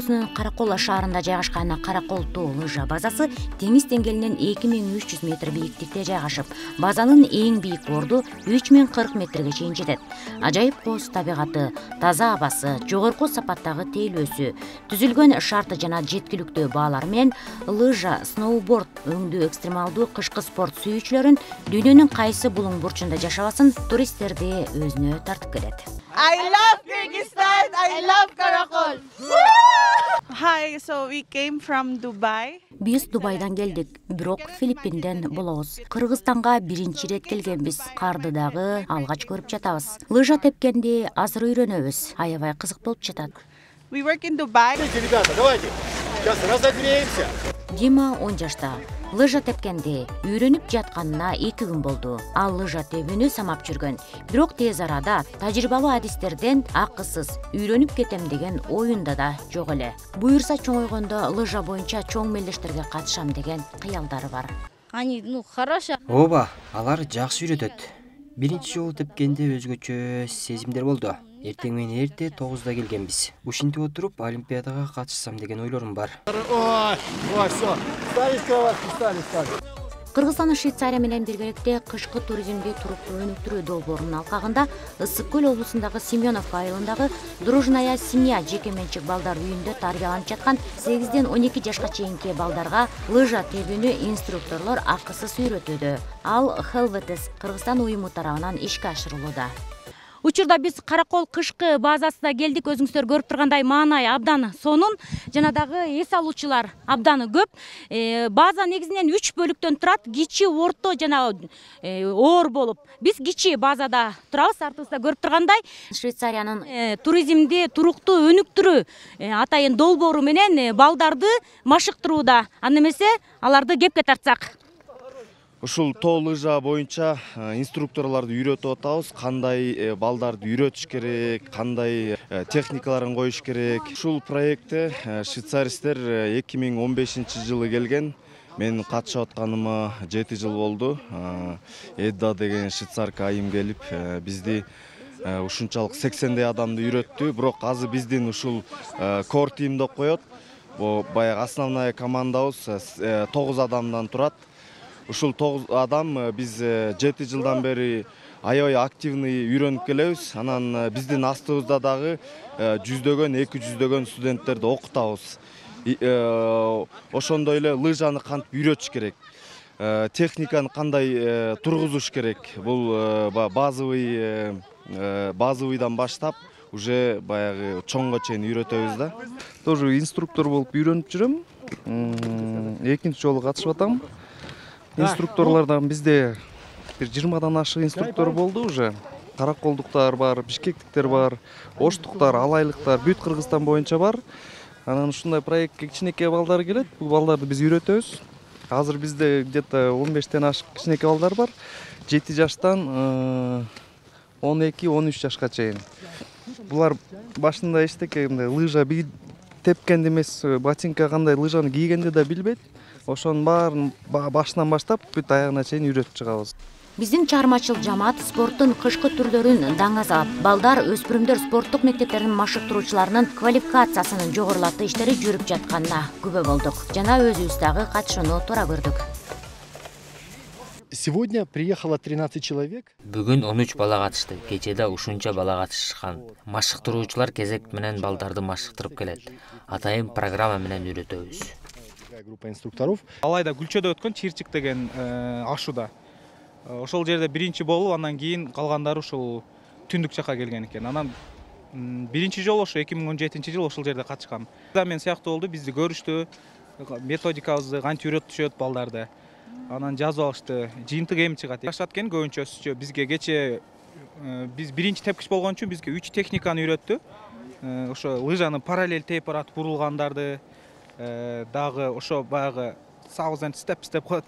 облусунун Каракол шаарында жайгашкан Каракол тоо лыжа базасы деңиз деңгээлинен 2300 метр бийиктикте жайгашып, базанын эң бийик орду 3040 метрге чейин жетет. Ажайып кооз табигаты, таза абасы, жогорку сапаттагы тейлөөсү, түзүлгөн шарты жана жеткиликтүү баалары менен лыжа, сноуборд өңдүү экстремалдуу кышкы спорт сүйүүчүлөрүн дүйнөнүн кайсы булуң бурчунда жашабасын туристтерди өзүнө тартып келет. I love Kyrgyzstan. I love Karakol. Hi, so we came from Dubai. Биз Дубайдан келдик, бирок Филиппинден болобуз. Кыргызстанга биринчи ирет келгенбиз. Карды дагы алгач көрүп жатабыз. Лыжа тепкенди азыр үйрөнөбүз. Аябай кызык болуп жатат. We work in Dubai. Ребята, давайте. Сейчас разогреемся. Дима 10 жашта. Лыжа тепкенди үйрөнүп жатканына 2 күн болду. Ал лыжа тебүүнү самап жүргөн. Бирок тез арада тажрыйбалуу адистерден акысыз үйрөнүп кетем деген оюнда да жок эле. Буюрса чоңойгондо лыжа боюнча чоң мелдештерге катышам деген кыялдары бар. Они, хорошо. Ооба, алар жакшы үйрөтөт. Биринчи жолу тепкенде өзгөчө сезимдер болду. Эртең менен эрте 9-да келгенбиз. Ушинтип отуруп Олимпиадага катышсам деген ойлорум бар. Ой, всё. Стали с кроватки, стали. Кыргызстан Швейцария менен биргеликте кышкы туризмди туруктуу өнүктүрүү долбоорунун алкагында Ысык көл облусундагы Семеновка айылындагы Дружная семья жеке менчик балдар үйүндө тарбияланып жаткан 8ден 12 жашка чейинки балдарга лыжа тебүүнү инструкторлор акысыз үйрөтүүдө. Ал Helvetes Кыргызстан уюму тарабынан ишке ашырылууда. Учурда биз Каракол кышкы базасына келдик. Өзүңүздөр көрүп тургандай маанай абдан сонун, жана дагы эс алуучулар абдан көп. База негизинен 3 бөлүктөн турат. Кичи, орто жана оор болуп. Биз кичи базада турабыз. Артыбызда көрүп тургандай Швейцариянын туризмди туруктуу өнүктүрүү атайын долбоору менен балдарды машыктырууда. Аны эмесе аларды кепке тартсак. Ушул тоо лыжа боюнча инструкторлорду үйрөтүп атабыз, кандай балдарды үйрөтүш керек, кандай техникаларын коюш керек. Ушул проектте швейцаристер 2015-жылы келген. Мен катышып атканыма 7 жыл болду. Эдда деген швейцарка айым келип, бизди ушунчалык 80дей адамды үйрөттү. Бирок азыр биздин ушул core team деп коет. Баягы основная командабыз 9 адамдан турат. Ушул 9 адам биз 7 жылдан бери аябай активный үйрөнүп келебиз. Анан биздин астыбызда дагы 100дөгөн, 200дөгөн студенттерди окутабыз. Ошондой эле лыжаны кантип үйрөтүш керек, техниканы кандай тургузуш керек. Бул базовыйдан баштап уже баягы чоңго чейин үйрөтөбүз да. Тоже инструктор болуп үйрөнүп жүрөм. Экинчи жолу катышып атам. Инструкторлордон бизде бир 20дан ашык инструктор болду уже. Караколдуктар бар, бишкектиктер бар, оштуктар, алайлыктар бүт Кыргызстан боюнча бар. Анан ушундай проектке кичинекей балдар келет. Бул балдарды биз үйрөтөбүз. Азыр бизде где-то 15тен ашык кичинекей балдар бар. 7 жаштан 12-13 жашка чейин. Булар башында эчтеке лыжа тепкенди эмес, ботинка кандай лыжаны кийгенди да билбейт. Ошонун баарын башынан баштап бүт аягына чейин үйрөтүп чыгабыз. Биздин чыгармачыл жамаат спорттун кышкы түрлөрүн даңазалап, балдар, өспүрүмдөр спорттук мектептеринин машыктыруучуларынын квалификациясынын жогорулатуу иштери жүрүп жатканына күбө болдук жана өзүбүз дагы катышууну туура көрдүк. Сегодня приехало 13 человек. Бүгүн 13 бала катышты. Кечеде ушунча бала катышкан. Машыктыруучулар кезек менен балдарды машыктырып келет. Атайын программа менен үйрөтөбүз. Группа инструкторов. Алайда Гүлчөдө өткөн Чирчик деген ашууда. Ошол жерде биринчи болуп, андан кийин калгандары ушул түндүк жака келген экен. Анан биринчи жолу ошо 2017-жылы ошол жерде катышкам. Мен сыяктуу болду, бизди көрүштү, методикабызды кантип үйрөтүшөт балдарды. Анан жазып алышты. Жыйынтык эми чыгат. Жашат экен көбүнчөсүчө. Бизге кече биз биринчи тепкич болгон үчүн бизге 3 техниканы үйрөттү. Ошо лыжаны параллель тейп барат, бурулгандарды, дагы ошо баягы саузен степ коет.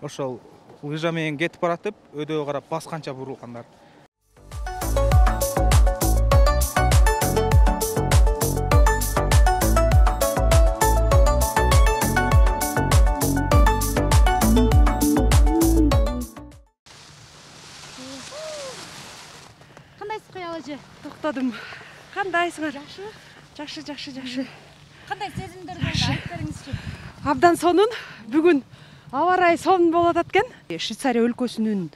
Ошол лыжа менен кетип баратып, өдөгө карап басканча бурулгандар. Кандайсыз кыялажы? Токтодум. Кандайсыңар? Жакшы. Жакшы. кандай сезимдер болду? Айтып бериңизчи. Абдан сонун. Бүгүн аба ырайы сонун болуп атат экен. Швейцария өлкөсүнүн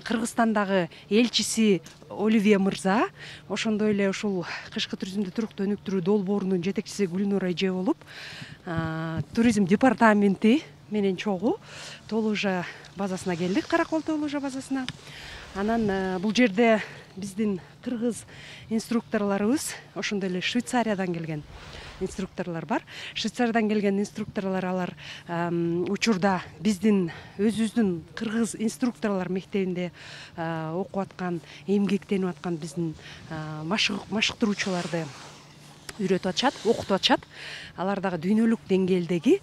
Кыргызстандагы элчиси Оливия мырза, ошондой эле ушул кышкы туризмди туруктуу өнүктүрүү долбоорунун жетекчиси Гүлнур Эже болуп, туризм департаменти менен чогуу Тоолужа базасына келдик, Каракол Тоолужа базасына. Анан бул жерде биздин кыргыз инструкторлорубуз, ошондой эле Швейцариядан келген инструкторлор бар. Швейцариядан келген инструкторлор алар учурда биздин өзүбүздүн кыргыз инструкторлор мектебинде окуп аткан, эмгектенип аткан биздин машыктыруучуларды үйрөтүп атышат, окутуп атышат. Алар дагы дүйнөлүк деңгээлдеги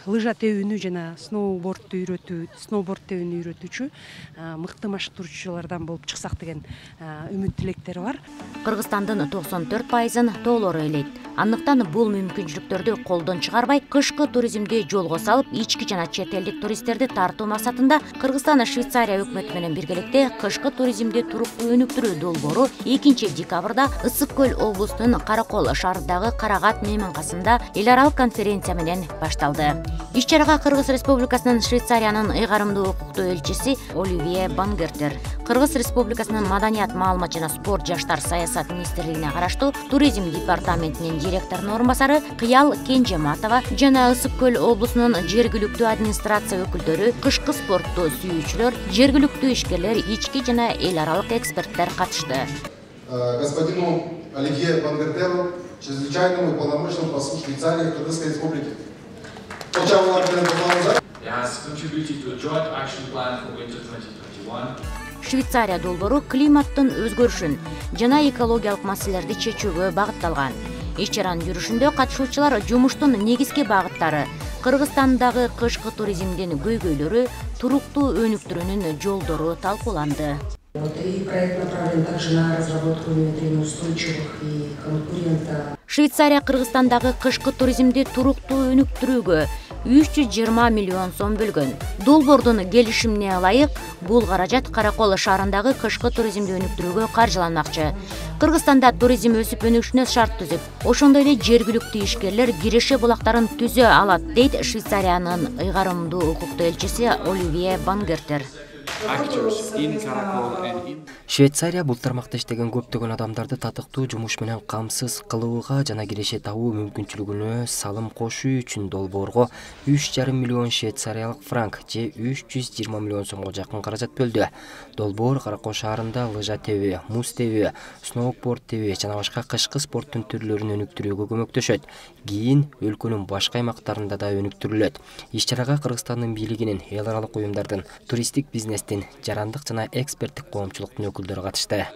лыжа тебүүнү жана сноуборд тебүүнү үйрөтүүчү мыкты машыктыруучулардан болуп чыксак деген үмүт тилектери бар. Кыргызстандын 94%-ын тоолор ээлейт. Андыктан бул мүмкүнчүлүктөрдү колдон чыгарбай, кышкы туризмди жолго салып, ички жана чет элдик туристтерди тартуу максатында Кыргызстан Швейцария өкмөтү менен биргеликте кышкы туризмди туруктуу өнүктүрүү долбоору 2-декабрда Ысык көл облусунун Каракол шаарындагы Карагат мейманкасында эл аралык конференция менен башталды. Иш-чарага Кыргыз Республикасынын Швейцариянын ыйгарымдуу укуктуу элчиси Оливия Бангертер, Кыргыз Республикасынын Маданият, маалымат жана спорт жаштар саясат министрлигине караштуу туризм департаментинин директорунун орун басары Кыял Кенжематова жана Ысык көл облусунун жергиликтүү администрация өкүлдөрү, кышкы спортту сүйүүчүлөр, жергиликтүү ишкерлер, ички жана эл аралык эксперттер катышты. Господину Оливье Бангертеру, чрезвычайному и полномочному послу Швейцарии в Кыргызской Республике. Швейцария долбоору климаттын өзгөрүшүн жана экологиялык маселелерди чечүүгө багытталган. Иш-чаранын жүрүшүндө катышуучулар жумуштун негизги багыттары, Кыргызстандагы кышкы туризмдин көйгөйлөрү, туруктуу өнүктүрүүнүн жолдору талкууланды. И проект направлен также на разработку и внедрение устойчивых и конкурента. Швейцария Кыргызстандагы кышкы туризмди туруктуу өнүктүрүүгө 320 миллион сом бөлгөн. Долбоордун келишимине ылайык, бул каражат Каракол шаарындагы кышкы туризмди өнүктүрүүгө каржыланмакчы. Кыргызстанда туризм өсүп өнүгүшүнө шарт түзүп, ошондой эле жергиликтүү ишкерлер киреше булактарын түзө алат, дейт Швейцариянын ыйгарымдуу укуктуу элчиси Оливия Бангертер. Швейцария бул тармакта иштеген көптөгөн адамдарды татыктуу жумуш менен камсыз кылууга жана киреше табуу мүмкүнчүлүгүнө салым кошуу үчүн долбоорго 3,5 миллион швейцариялык франк же 320 миллион сомго жакын каражат бөлдү. Долбоор Каракол шаарында лыжа тебүү, муз тебүү, сноуборд тебүү жана башка кышкы спорттун түрлөрүн өнүктүрүүгө көмөктөшөт. Кийин өлкөнүн башка аймактарында да өнүктүрүлөт. Иш-чарага Кыргызстандын бийлигинин, эл аралык уюмдардын, туристтик бизнестин, жарандык жана эксперттик коомчулуктун өкүлдөрү катышты.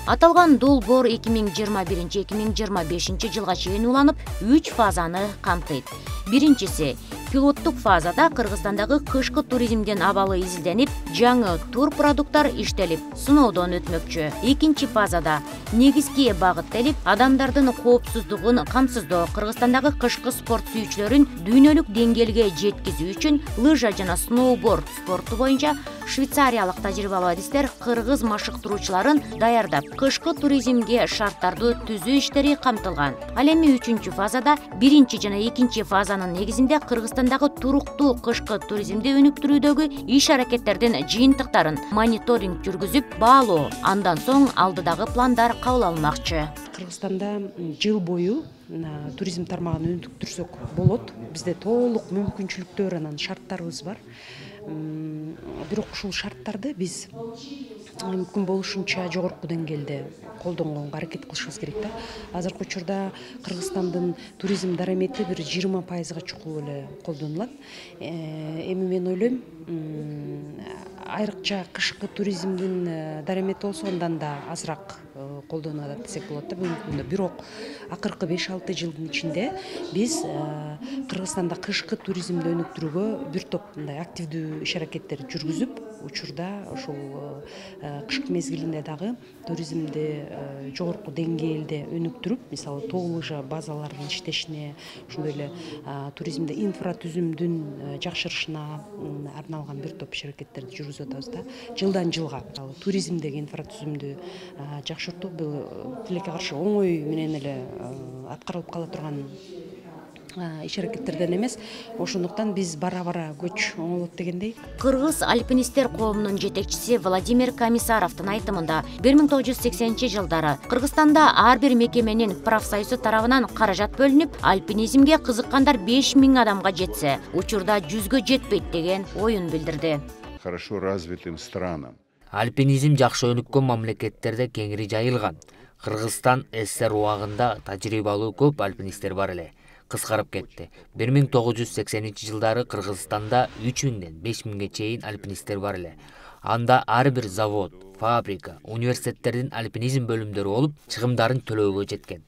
Аталган долбоор 2021-2025 жылга чейин уланып, 3 фазаны камтыйт. Биринчиси пилоттук фазада Кыргызстандагы кышкы туризмдин абалы изилденип, жаңы тур продукттар иштелип, сыноодон өтмөкчү. Экинчи фазада негизги багыттелип, адамдардын коопсуздугун камсыздоо, Кыргызстандагы кышкы спорт сүйүүчүлөрүн дүйнөлүк деңгээлге жеткизүү үчүн лыжа жана сноуборд спорту боюнча швейцариялык тажрыйбалуу адистер кыргыз машыктыруучуларын даярдап, кышкы туризмге шарттарды түзүү иштери камтылган. Ал эми 3-фазада биринчи жана экинчи фазанын негизинде Кыргызстандагы туруктуу кышкы туризмди өнүктүрүүдөгү иш-аракеттердин жыйынтыктарын мониторинг жүргүзүп баалоо, андан соң алдыдагы пландар кабыл алынмакчы. Кыргызстанда жыл бою туризм тармагын өнүктүрсөк болот. Бизде толук мүмкүнчүлүктөр, анан шарттарыбыз бар. Бирок ушул шарттарды биз мүмкүн болушунча жогорку деңгээлде колдонгонго аракет кылышыбыз керек да. Азыркы учурда Кыргызстандын туризм дарамети бир 20%-га чукул эле колдонулат. Эми мен ойлойм, айрыкча кышкы туризмдин дарамети болсо андан да азыраак колдонулат десек болот да бүгүнкү күндө. Бирок акыркы 5-6 жылдын ичинде биз Кыргызстанда кышкы туризмди өнүктүрүүгө бир топ мындай активдүү иш-аракеттер жүргүзүп, учурда ушул кышкы мезгилинде дагы туризмди жогорку деңгээлде өнүктүрүп, мисалы тоо лыжа базаларынын иштешине, ошондой эле туризмде инфратүзүмдүн жакшырышына арналган бир топ иш-аракеттерди жүргүзүп көрсөтүп атабыз да. Жылдан жылга туризмдеги инфратүзүмдү жакшыртуу бул тилекке каршы оңой менен эле аткарылып кала турган иш аракеттерден эмес. Ошондуктан биз бара көч оңолот дегендей. Кыргыз альпинисттер коомунун жетекчиси Владимир Комиссаровдун айтымында 1980-жылдары Кыргызстанда ар бир мекеменин профсоюзу тарабынан каражат бөлүнүп, альпинизмге кызыккандар 5000 адамга жетсе, учурда 100гө жетпейт деген оюн билдирди. Хорошо развитым странам. Альпинизм жакшы өнүккөн мамлекеттерде кеңири жайылган. Кыргызстан СССР убагында тажрыйбалуу көп альпинисттер бар эле. Кыскарып кетти. 1980-жылдары Кыргызстанда 3000ден 5000ге чейин альпинисттер бар эле. Анда ар бир завод, фабрика, университеттердин альпинизм бөлүмдөрү болуп, чыгымдарын төлөөгө жеткен.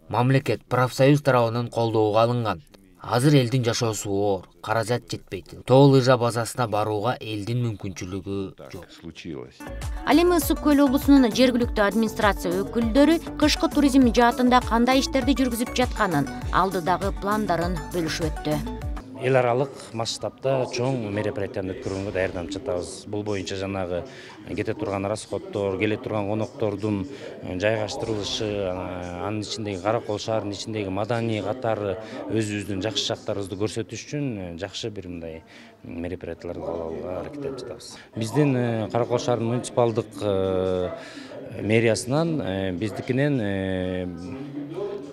Мамлекет профсоюз тарабынан колдоого алынган. Азыр элдин жашоосу оор, каражат жетпейт. Тоо лыжа базасына барууга элдин мүмкүнчүлүгү жок. Ал эми Ысык көл облусунун жергиликтүү администрация өкүлдөрү кышкы туризм жаатында кандай иштерди жүргүзүп жатканын, алдыдагы пландарын бөлүшүп өттү. Эл аралык масштабта чоң мероприятияны өткөргөнгө даярданып жатабыз. Бул боюнча жанагы кете турган расходдор, келе турган коноктордун жайгаштырылышы, анын ичиндеги Каракол шаарынын ичиндеги маданий катары өзүбүздүн жакшы жактарыбызды көрсөтүш үчүн жакшы бир мындай мероприятияларды кабыл алууга аракет этип жатабыз. Биздин Каракол шаарынын муниципалдык мэриясынан биздикинен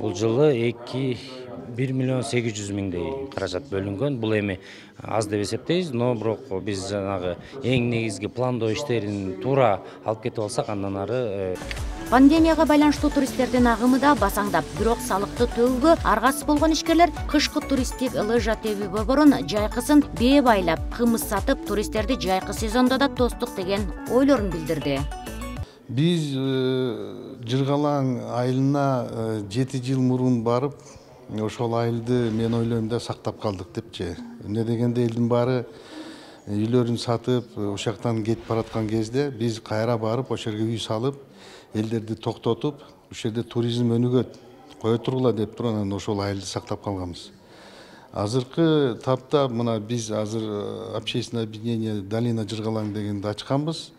бул жылы 1,8 миллион каражат бөлүнгөн. Бул эми аз деп эсептейбиз, но бирок биз жанагы эң негизги пландоо иштерин туура алып кетип алсак, андан ары Пандемияга байланыштуу туристтердин агымы да басаңдап, бирок салыкты төлөөгө аргасыз болгон ишкерлер кышкы туристтик лыжа тебүү борборун жайкысын бээ байлап, кымыз сатып, туристтерди жайкы сезондо да тостук деген ойлорун билдирди. Биз Жыргалаң айылына 7 жыл мурун барып, ошол айылды мен ойлойм да сактап калдык депчи. Эмне дегенде элдин баары үйлөрүн сатып, ошол жактан кетип бараткан кезде биз кайра барып, ошол жерге үй салып, элдерди токтотуп, ошол жерде туризм өнүгөт, кое тургула деп туруп, анан ошол айылды сактап калганбыз. Азыркы тапта мына биз азыр общественное объединение Долина Жыргалаң дегенди ачканбыз.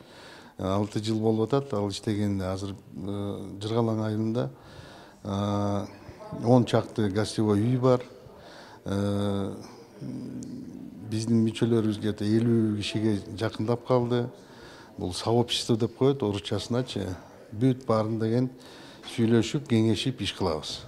6 жыл болуп атат, ал иштеген азыр Жыргалаң айылында 10 чакты гостевой үй бар. Биздин мүчөлөрүбүз где-то 50 кишиге жакындап калды. Бул сообщество деп коет орусчасыначы. Бүт баарын деген сүйлөшүп, кеңешип иш кылабыз.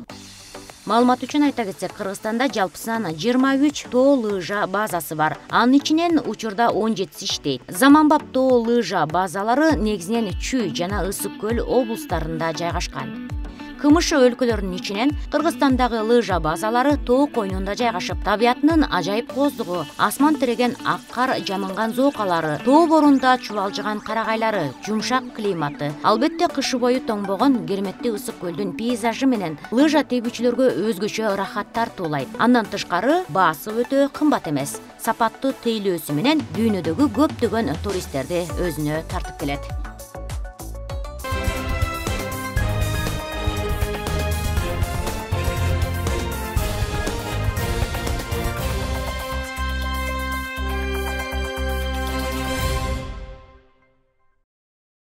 Маалымат үчүн айта кетсек, Кыргызстанда жалпысынан 23 тоо лыжа базасы бар. Анын ичинен учурда 17 иштейт. Заманбап тоо лыжа базалары негизинен Чүй жана Ысык көл облустарында жайгашкан. КМШ өлкөлөрүнүн ичинен Кыргызстандагы лыжа базалары тоо койнунда жайгашып, табиятынын ажайып коздугу, асман тиреген ак кар жамынган зоокалары, тоо борунда чубалжыган карагайлары, жумшак климаты, албетте кышы бою тоңбогон керметтүү Ысык көлдүн пейзажы менен лыжа тебүүчүлөргө өзгөчө рахат тартуулайт. Андан тышкары баасы өтө кымбат эмес. Сапаттуу тейлөөсү менен дүйнөдөгү көптөгөн туристтерди өзүнө тартып келет.